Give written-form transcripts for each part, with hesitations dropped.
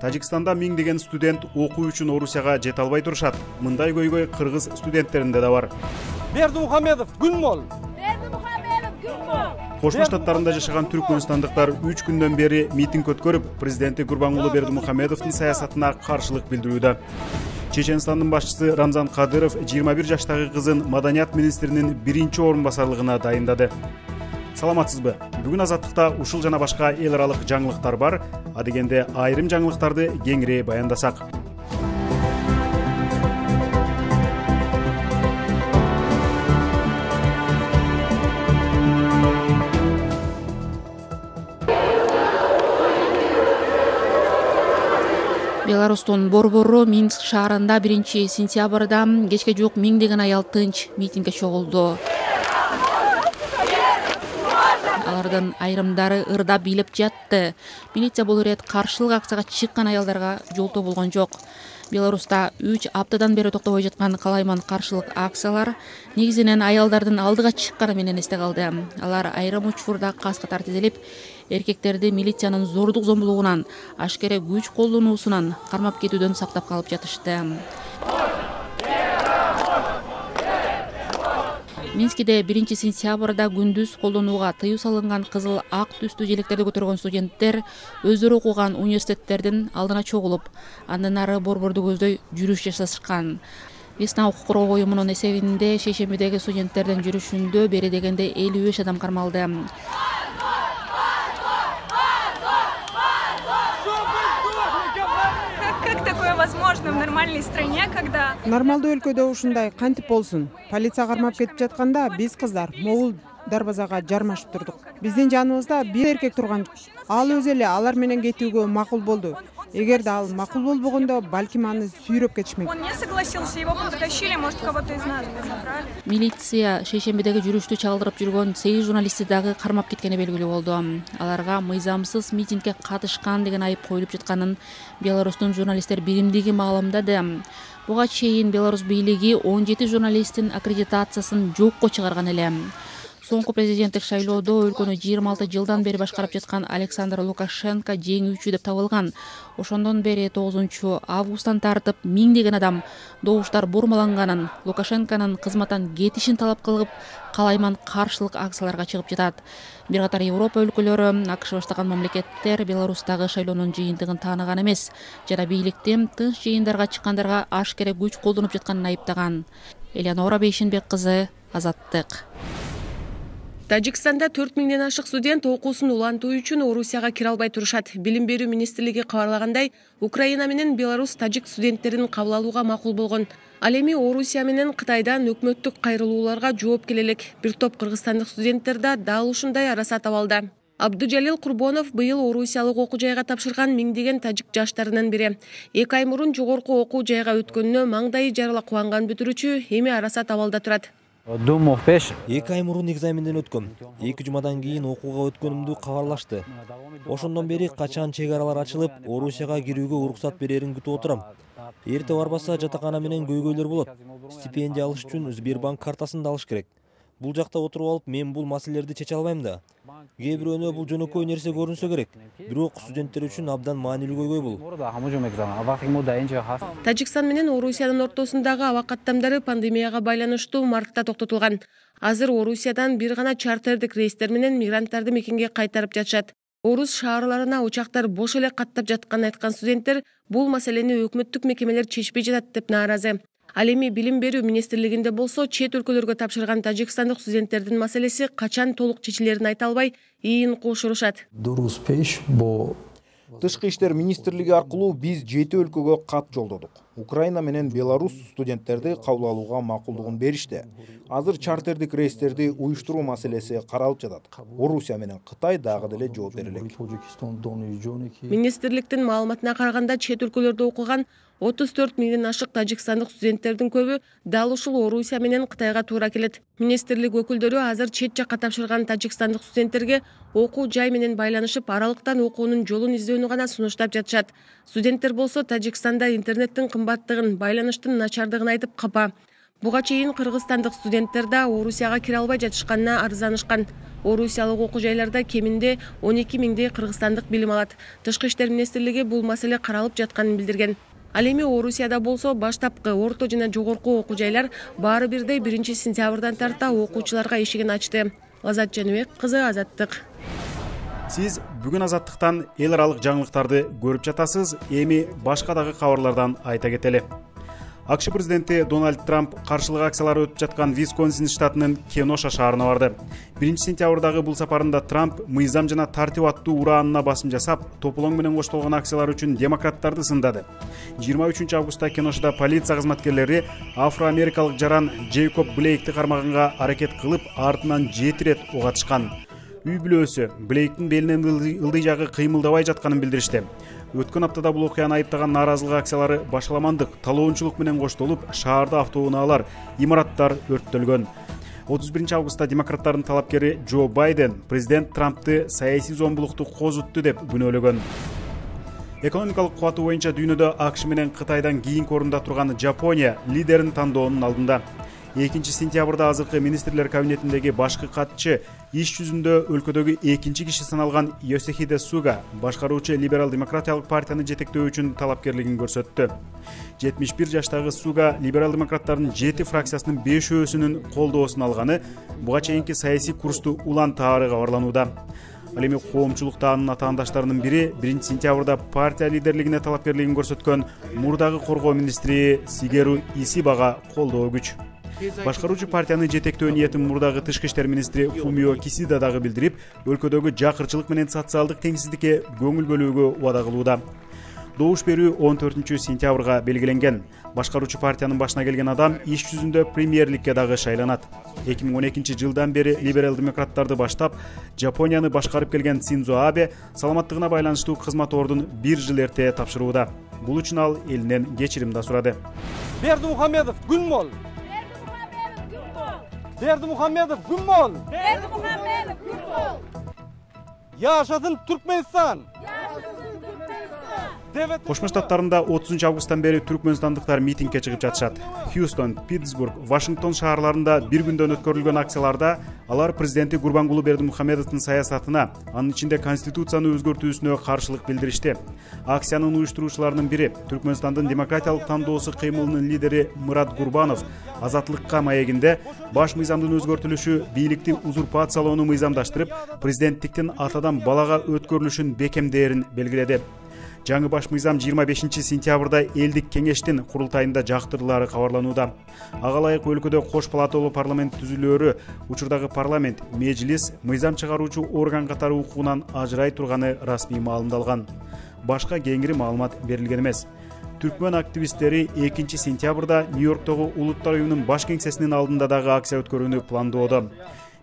Тажикстанда миңдеген студент окуу үчүн Орусияга жете албай турушат. Мындай көйгөй кыргыз студенттеринде да бар. Бердимухамедов күн мол. Кошмо Штаттарында жашаган түркмөнстандыктар 3 күндөн бери митинг өткөрүп, президенти Гурбангулы Бердимухамедовдун саясатына каршылык билдирүүдө. Чеченстандын башчысы Рамзан Кадыров 21 жаштагы кызын маданият министринин 1-орун басарлыгына дайындады. Саламатсызбы? Бүгүн Азаттыкта ушул жана башка эл аралык жаңылыктар бар. Адегенде айрым жаңылыктарды кеңири баяндасак. Беларустун борбору Минск шаарында 1-сентябрда кечке жуук миңдеген аял тынч митингге чогулду. Алардын айрымдары ырдап бийлеп жатты. Милиция бул ирет каршылык акцияга чыккан аялдарга жолтоо болгон жок. Беларуста 3 аптадан бери токтобой жаткан калайман каршылык акциялар негизинен аялдардын алдыга чыкканы менен эсте калды. Алар айрым учурда кас катар тизилип, эркектерди милициянын зордук зомбулугунан, ашкере күч колдонуусунан кармап кетүүдөн сактап калып жатышты. Минскиде 1-сентябрда күндүз колдонууга тыюу салынган кызыл ак түстүү желектерди көтөргөн студенттер өздөрү окуган университеттердин алдына чогулуп, андан ары борборду көздөй жүрүш жасашкан. Весна укук коргоо уюмунун эсебинде шейшембидеги студенттердин жүрүшүндө бери дегенде 55 адам кармалды. Возможно в нормальной стране, когда нормалдуу өлкөдө ушундай кантип болсун? Полиция кармап кетип жатканда биз кыздар могул дарбазага жармашып турдук. Биздин жаныбызда бир эркек турган. Ал өзү эле алар менен кетүүгө макул болду. Эгерде ал макул болбогондо, балким аны сүйрөп кетишмек. Он не согласился, его потащили, может, кого-то из нас забрали. Милиция шейшембидеги жүрүштү чагдырып жүргөн 8 журналистти дагы кармап кеткени белгилүү болду. Аларга мыйзамсыз митингге катышкан деген айып коюлуп жатканын Беларустун журналисттер биримдиги маалымдады. Буга чейин Беларусь бийлиги 17 журналисттин аккредитациясын жокко чыгарган эле. Соңку президенттик шайлоодо өлкөнү 26 жылдан бери башкарып жаткан Александр Лукашенко жеңүүчү деп табылган. Ошондон бери 9-августтан тартып миңдеген адам добуштар бурмаланганын, Лукашенконун кызматтан кетишин талап кылып, калайман каршылык акцияларга чыгып жатат. Бир катар Европа өлкөлөрү, АКШ баштаган мамлекеттер Беларустагы шайлоонун жыйынтыгын тааныган эмес жана бийликтин тынч жыйындарга чыккандарга ашкере күч колдонуп жатканын айыптаган. Элеонора Бейшенбек кызы, Азаттык. Тажикстанда 4000ден ашык студент окуусун улантуу үчүн Орусияга кире албай турушат. Билим берүү министрлиги кабарлагандай, Украина менен Беларусь тажик студенттерин кабыл алууга макул болгон. Ал эми Орусия менен Кытайдан өкмөттүк кайрылууларга жооп келе элек. Бир топ кыргызстандык студенттер да дал ушундай арасат абалда. Абдужалил Курбонов быйыл Орусиялык окуу жайга тапшырган миңдеген тажик жаштарынын бири. 2 ай мурун жогорку окуу жайга өткөнүнө маңдайы жарыла кубанган бүтүрүүчү эми арасат абалда турат. 2 ай мурун экзаменден өткөм. 2 жумадан кийин окууга өткөнүмдү кабарлашты. Ошондон бери качан чек аралар ачылып, Орусияга кирүүгө уруксат берерин күтүп отурам. Эрте барбаса жатакана менен көйгөйлөр болот. Стипендия алыш үчүн Сбербанк картасын да алыш керек. Бул жакта отуруп алып, мен бул маселелерди чече албайм да. Кээ бирөөнө бул жөнөкөй нерсе көрүнсө керек. Бирок студенттер үчүн абдан маанилүү көйгөй бул. Тажикстан менен Орусиянын ортосундагы аба каттамдары пандемияга байланыштуу мартта токтотулган. Азыр Орусиядан бир гана чартердик рейстер менен мигранттарды мекенге кайтарып жатышат. Орус шаарларына учактар бош эле каттап жатканын айткан студенттер бул маселени өкмөттүк мекемелер чечпей жатат деп нааразы. Ал эми Билим берүү министрлигинде болсо чет өлкөлөргө тапшырган тажикстандык студенттердин маселеси качан толук чечилерин айта албай, ийин куушурушат. Тышкы иштер министрлиги аркылуу биз 7 өлкөгө кат жолдодук. Украина менен Беларусь студенттерди кабыл алууга макулдугун беришти. Азыр чартердик рейстерди уюштуруу маселеси каралып жатат. Орусия менен Кытай дагы деле жооп бере элек. Министрликтин маалыматына караганда чет өлкөлөрдө окуган 34 миңден ашык тажикстандык студенттердин көбү дал ушул Орусия менен Кытайга туура келет. Министрлик өкүлдөрү азыр чет жакка тапшырган тажикстандык студенттерге окуу жай менен байланышып, аралыктан окуунун жолун издөөнү гана сунуштап жатышат. Студенттер болсо Тажикстанда интернеттин кымбаттыгын, байланыштын начардыгын айтып капа. Буга чейин кыргызстандык студенттер да Орусияга кире албай жатышканына арызданышкан. Орусиялык окуу жайларда кеминде 12 миңдей кыргызстандык билим алат. Тышкы иштер министрлиги бул маселе каралып жатканын билдирген. Ал эми Орусияда болсо баштапкы, орто жана жогорку окуу жайлар баары бирдей 1-сентябрдан тарта окуучуларга эшигин ачты. Азат Жаныбек кызы, Азаттык. Сиз бүгүн Азаттыктан эл аралык жаңылыктарды көрүп жатасыз. Эми башка дагы кабарлардан айта кетели. АКШ президенти Дональд Трамп каршылык акциялары өтүп жаткан Висконсин штатынын Кеноша шаарына барды. 1-сентябрдагы бул сапарында Трамп мыйзам жана тартип аттуу ураанына басым жасап, тополоң менен коштолгон акциялар үчүн демократтарды сындады. 23 августта Кеношада полиция кызматкерлери афро-америкалык жаран Джейкоб Блейкти кармаганга аракет кылып, артынан 7 рет ок атышкан. Үй бүлөсү Блейктин белинен ылдый жагы кыймылдабай жатканын билдиришти. Өткөн аптада бул окуяны айыптаган нааразылык акциялары башаламандык, талоончулук менен коштолуп, шаарда автоунаалар, имараттар өрттөлгөн. 31 августта демократтардын талапкери Джо Байден президент Трампты саясий зомбулукту козутту деп күнөөлөгөн. Экономикалык кубаты боюнча дүйнөдө АКШ менен Кытайдан кийинки орунда турган Жапония лидерин тандоонун алдында. 2-сентябрда азыркы министрлер кабинетиндеги башкы катчы иш жүзүндө өлкөдөгү экинчи киши саналган Йосихиде Суга башкаруучу либерал-демократиялык партияны жетектөө үчүн талапкерлигин көрсөттү. 71 жаштагы Суга либерал-демократтардын 7 фракциясынын 5-өсүнүн колдоосун алганы буга чейинки саясий курсту улантаары кабарланууда. Ал эми коомчулукта анын атаандаштарынын бири 1-сентябрда партия лидерлигине талапкерлигин көрсөткөн мурдагы коргоо министри Сигеру Исибага колдоо күч. Башкаруучу партияны жетектөө ниетин мурдагы тышкы иштер министри Фумио Кисида дагы билдирип, өлкөдөгү жакырчылык менен социалдык теңсиздикке көңүл бөлүүгө убада кылууда. Добуш берүү 14-сентябрга белгиленген. Башкаруучу партиянын башына келген адам иш жүзүндө премьерликке дагы шайланат. 2012 жылдан бери либерал-демократтарды баштап, Жапонияны башкарып келген Синдзо Абе саламаттыгына байланыштуу кызмат ордун 1 жыл эрте тапшырууда. Бул үчүн ал элинен кечирим да сурады. Бердимухамедов күн бол. Бердимухамедов күн бол. Бердимухамедов күн бол. Яшасын Түркменстан. Кошмо Штаттарында 30 августтан бери түркмөнстандыктар митингге чыгып жатышат. Хьюстон, Питтсбург, Вашингтон шаарларында бир күндөн өткөрүлгөн акцияларда алар президенти Гурбангулы Бердимухамедовдун саясатына, анын ичинде конституцияны өзгөртүүсүнө каршылык билдиришти. Акциянын уюштуруучуларынын бири Түркмөнстандын демократиялык тандоосу кыймылынын лидери Мурат Гурбанов Азаттыкка маегинде баш мыйзамдын өзгөртүлүшү бийликти узурпациялоону мыйзамдаштырып, президенттиктин атадан балага өткөрүлүшүн бекемдээрин белгиледи. Жаңы баш мыйзам 25-сентябрда элдик кеңештин курултайында жактырылары кабарланууда. Ага ылайык өлкөдө кош палаталуу парламент түзүлөөрү, учурдагы парламент, мejlis, мыйзам чыгаруучу орган катары укугунан ажырай турганы расмий маалымдалган. Башка кеңири маалымат берилген эмес. Түркмөн активисттери 2-сентябрда Нью-Йорктогу Улуттар уюмунун баш кеңсесинин алдында дагы акция өткөрүүнү пландоодо.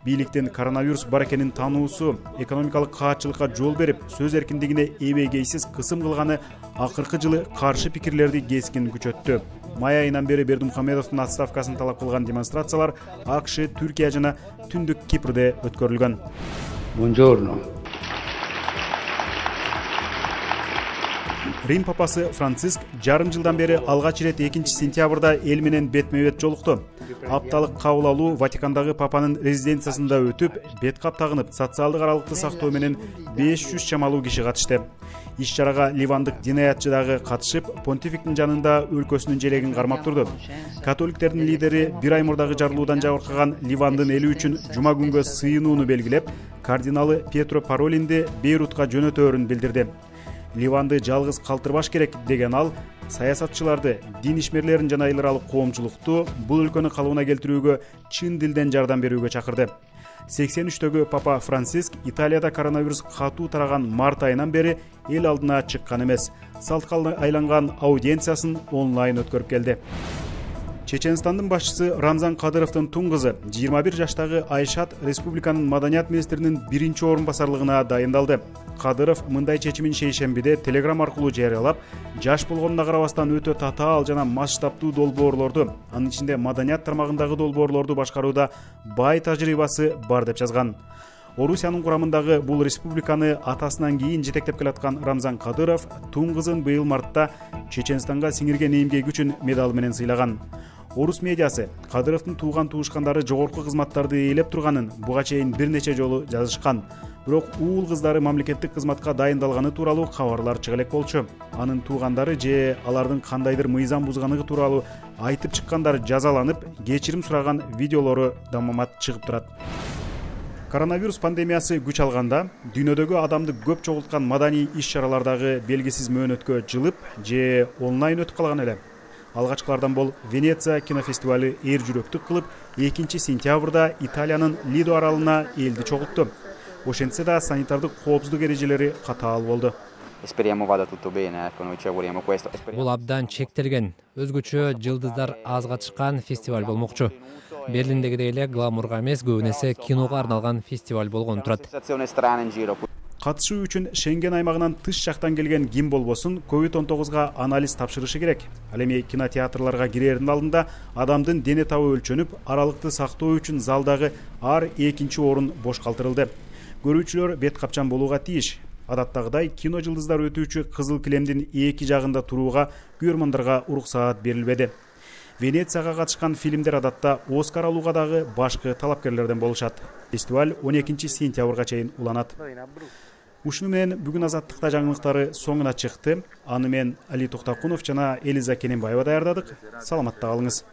Бийликтин коронавирус бар экенин тануусу, экономикалык каатчылыкка жол берип, сөз эркиндигине эбегейсиз кысым кылганы акыркы жылы каршы пикирлерди кескин күчөттү. Май айынан бери Бердимухамедовдун отставкасын талап кылган демонстрациялар АКШ, Түркия жана Түндүк Кипрде өткөрүлгөн. Buongiorno. Рим папасы Франциск жарым жылдан бери алгач ирет 2-сентябрда эл менен бетме-бет жолукту. Апталык кабыл алуу Ватикандагы папанын резиденциясында өтүп, бет кап тагынып, социалдык аралыкты сактоо менен 500 чамалуу киши катышты. Иш-чарага ливандык динаятчы дагы катышып, понтификтин жанында өлкөсүнүн желегин кармап турду. Католиктердин лидери бир ай мурдагы жарылуудан жабыркаган Ливандын эли үчүн жума күнгө сыйынууну белгилеп, кардиналы Пьетро Паролинди Бейрутка жөнөтөөрүн билдирди. Ливанды жалгыз калтырбаш керек деген ал, саясатчыларды, дин ишмерлерин жана эл аралык коомчулукту бул өлкөнү калыбына келтирүүгө чын дилден жардам берүүгө чакырды. 83-төгү папа Франциск Италияда коронавирус катуу тараган март айынан бери эл алдына чыккан эмес. Салтка айланган аудиенциясын онлайн өткөрүп келди. Чеченстандын башчысы Рамзан Кадыровдун тун кызы 21 жаштагы Айшат республиканын маданият министринин биринчи орун басарлыгына дайындалды. Кадыров мындай чечимин шейшембиде телеграм аркылуу жарыялап, жаш болгонуна карабастан өтө татаал жана масштабтуу долбоорлорду, анын ичинде маданият тармагындагы долбоорлорду башкарууда бай тажрыйбасы бар деп жазган. Орусиянын курамындагы бул республиканы атасынан кийин жетектеп келаткан Рамзан Кадыров тун кызын быйыл мартта Чеченстанга сиңирген эмгеги үчүн медалы менен сыйлаган. Орус медиасы Кадыровдун тууган туушкандары жогорку кызматтарды ээлеп турганын буга чейин бир нече жолу жазышкан. Бирок уул кыздары мамлекеттик кызматка дайындалганы тууралуу кабарлар чыга элек болчу. Анын туугандары же алардын кандайдыр мыйзам бузганлыгы тууралуу айтып чыккандар жазаланып, кечирим сураган видеолору дамамат чыгып турат. Коронавирус пандемиясы күч алганда, дүйнөдөгү адамды көп чогулткан маданий иш-чаралар дагы белгисиз мөөнөткө жылып же онлайн өтүп калган эле. Алгачкылардан бол Венеция кинофестивалы эр жүрөктүк кылып, 2-сентябрда Италиянын Лидо аралына элди чогултту. Ошентсе да санитардык коопсуздук эрежелери катаал болду. Бул абдан чектелген, өзгөчө жылдыздар аз катышкан фестиваль болмокчу. Берлиндегидей эле гламурга эмес, көбүн эсе киного арналган фестиваль болгон турат. Катышуу үчүн Шенген аймагынан тыш жактан келген ким болбосун COVID-19 анализ тапшырышы керек. Ал эми кинотеатрларга кирердин алдында адамдын дене табы өлчөнүп, аралыкты сактоо үчүн залдагы ар экинчи орун бош калтырылды. Көрүүчүлөр бет капчан болууга тийиш. Адаттагыдай кино жылдыздар өтүүчү кызыл килемдин эки жагында турууга көрөрмандарга уруксаат берилбеди. Венецияга катышкан фильмдер адатта Оскар алууга дагы башкы талапкерлерден болушат. Фестиваль 12-сентябрга чейин уланат. Ушуну менен бүгүн Азаттыкта жаңылыктары соңуна чыкты. Аны мен Али Токтакунов жана Элиза Кененбаева даярдадык. Саламатта калыңыз.